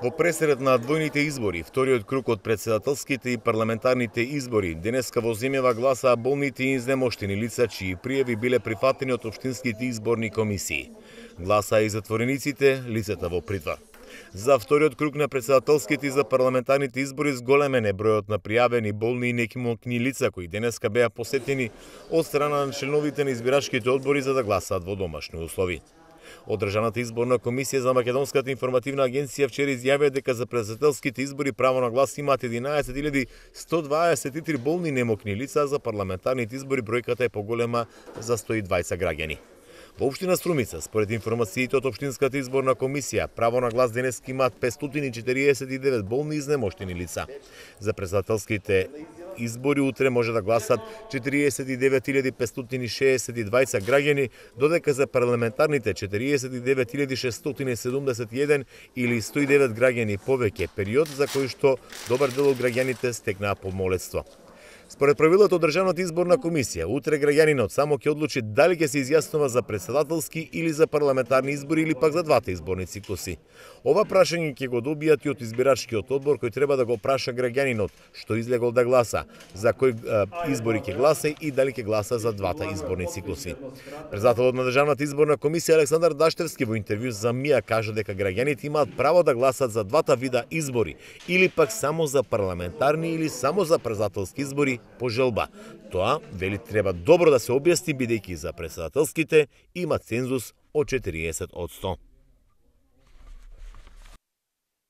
Во пресред на двојните избори, вториот круг од претседателските и парламентарните избори, денеска во земјава гласаа болните и изнемоштени лица чии пријави биле прифатени од општинските изборни комисии. Гласаа и затворениците, лицата во притвор. За вториот круг на претседателските и за парламентарните избори зголемен е бројот на пријавени болни и некимокни лица кои денеска беа посетени од страна на членовите на избирачките одбори за да гласаат во домашни услови. Од Државната изборна комисија за Македонската информативна агенција вчера изјавија дека за претседателските избори право на глас имаат 11.123 болни и немокни лица, а за парламентарните избори бројката е поголема за 120 граѓани. Во општина Струмица, според информациите од општинската изборна комисија, право на глас денеска имаат 549 болни и изнемоштени лица. За претседателските избори утре може да гласат 49.562 граѓани, додека за парламентарните 49.671 или 109 граѓани повеќе, период за кој што добар дел од граѓаните стекнаа помолетство. Според правилото од Државната изборна комисија, утре граѓанинот само ќе одлучи дали ќе се изјаснува за претседателски или за парламентарни избори или пак за двата изборни циклуси. Ова прашање ќе го добијат и од избирачкиот одбор кој треба да го праша граѓанинот што излегол да гласа, за кој избори ќе гласа и дали ќе гласа за двата изборни циклуси. Председателот на Државната изборна комисија Александар Даштевски во интервју за МИА кажа дека граѓаните имаат право да гласат за двата вида избори или пак само за парламентарни или само за претседателски избори по желба. Тоа, вели, треба добро да се објасни бидејќи за претседателските има цензус од 40%.